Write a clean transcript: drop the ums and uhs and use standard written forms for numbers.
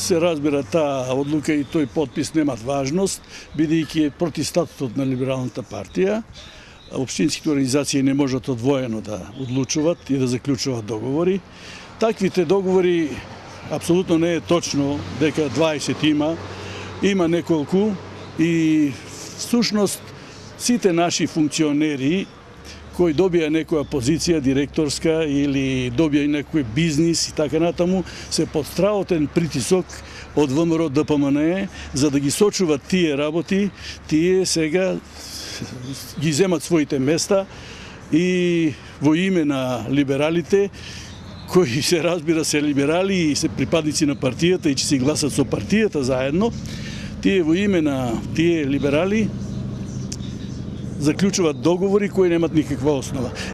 се разбира, таа одлука и тој подпис немат важност, бидејќи е против статутот на Либералната партија. Општинските организации не можат одвоено да одлучуваат и да заклучуваат договори. Таквите договори апсолутно не е точно дека 20 има неколку и всушност сите наши функционери кои добија некоја позиција директорска или добија некој бизнис и така натаму, се под страотен притисок од ВМРО ДПМН за да ги сочуват тие работи, тие сега ги земат своите места и во име на либералите, кои се разбира се либерали и се припадници на партијата и че си гласат со партијата заедно, тие во име на тие либерали заклучуваат договори кои немат никаква основа.